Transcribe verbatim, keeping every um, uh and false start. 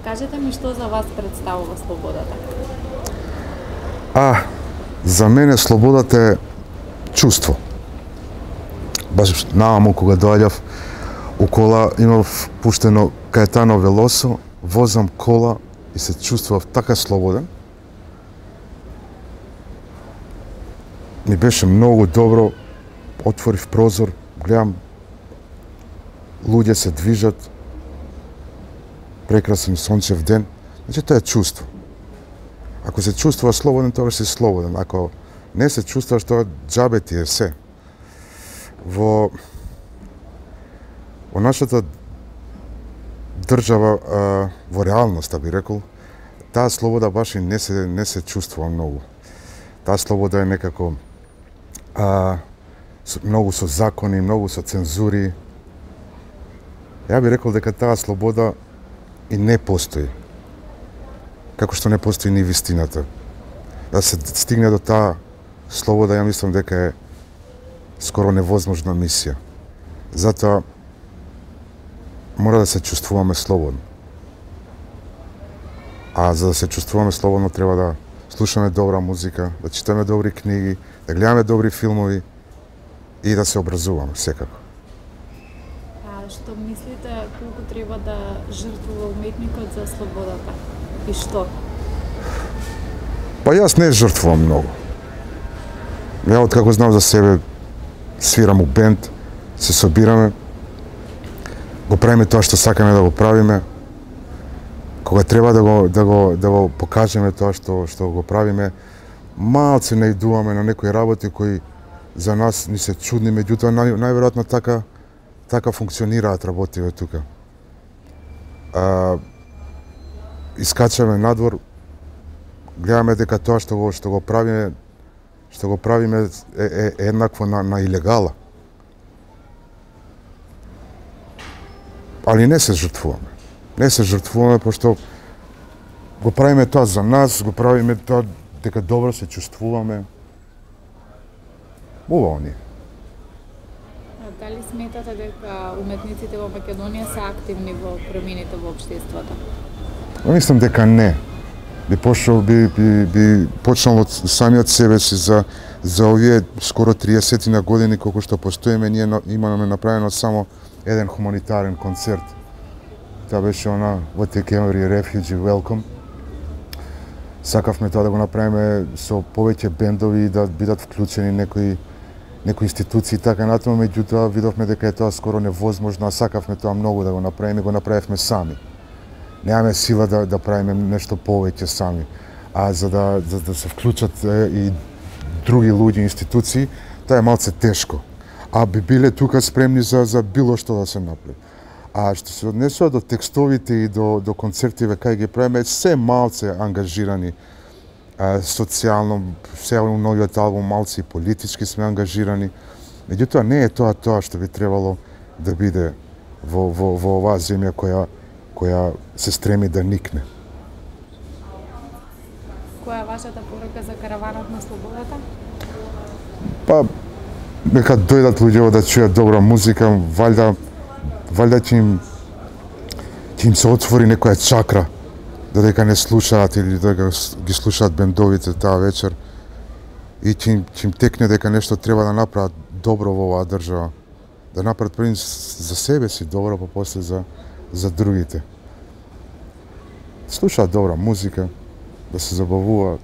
Кажете ми што за вас представува слободата? А, за мене слободата е чувство. Баш нааму кога доаѓав у кола, имав пуштено Каетано Велосо, возам кола и се чувствував така слободен. Ми беше многу добро, отворив прозор, гледам луѓе се движат, прекрасен сончев ден, значи тоа е чувство. Ако се чувствуваш слободен, тогаш си слободен. Ако не се чувствуваш, тоа џабе ти е се. Во во нашата држава, а, во реалноста би рекол, таа слобода баш и не се не се чувствува многу. Таа слобода е некако а, со, многу со закони, многу со цензури. Ја би рекол дека таа слобода и не постои. Како што не постои ни вистината. Да се стигне до таа слобода, ја мислам дека е скоро невозможна мисија. Затоа мора да се чувствуваме слободно. А за да се чувствуваме слободно треба да слушаме добра музика, да читаме добри книги, да гледаме добри филмови и да се образуваме секако. А што мислите колку треба да жртвува уметникот за слободата? И што? Па јас не жртвувам многу. Ја откако знам за себе, свирам у бенд, се собираме, го правиме тоа што сакаме да го правиме. Кога треба да го да го да го покажеме тоа што што го правиме, малце наидуваме на некои работи кои за нас ни се чудни, меѓутоа нај, најверојатно така така функционираат работиве тука. А, искачаме надвор, гледаме дека тоа што го што го правиме што го правиме е, е, е еднакво на, на илегала. Али не се жртвуваме. Не се жртвуваме, пошто го правиме тоа за нас, го правиме тоа дека добро се чувствуваме. Убаво ни. Дали сметате дека уметниците во Македонија се активни во промените во општеството? Мислам дека не. Би почнал би, би, би почнал од самиот себе си за за овие скоро триесет на години колку што постоиме, ние имаме направено само еден хуманитарен концерт. Тоа беше она What They Carry Refugee Welcome. Сакавме тоа да го направиме со повеќе бендови и да бидат вклучени некои некои институции така натаму, меѓутоа видовме дека е тоа скоро невозможно, а сакавме тоа многу да го направиме, го направивме сами. Немаме сила да да правиме нешто повеќе сами, а за да за да се вклучат е, и други луѓе, институции, тоа е малце тешко. А би биле тука спремни за за било што да се направи. А што се однесува до текстовите и до до концертиве кај ги правиме, се малце ангажирани а, социјално, се у новиот албум малце и политички сме ангажирани. Меѓутоа не е тоа тоа што би требало да биде во во во оваа земја која која се стреми да никне. Која е вашата порака за караванот на слободата? Па нека дојдат луѓето да чујат добра музика, валјда валјда ќе им ќе им се отвори некоја чакра, додека не слушаат или додека ги слушаат бендовите таа вечер и ќе им, ќе им текне дека нешто треба да направат добро во оваа држава. Да направат први за себе си добро, па после за за другите. Слушаат добра музика, да се забавуваат.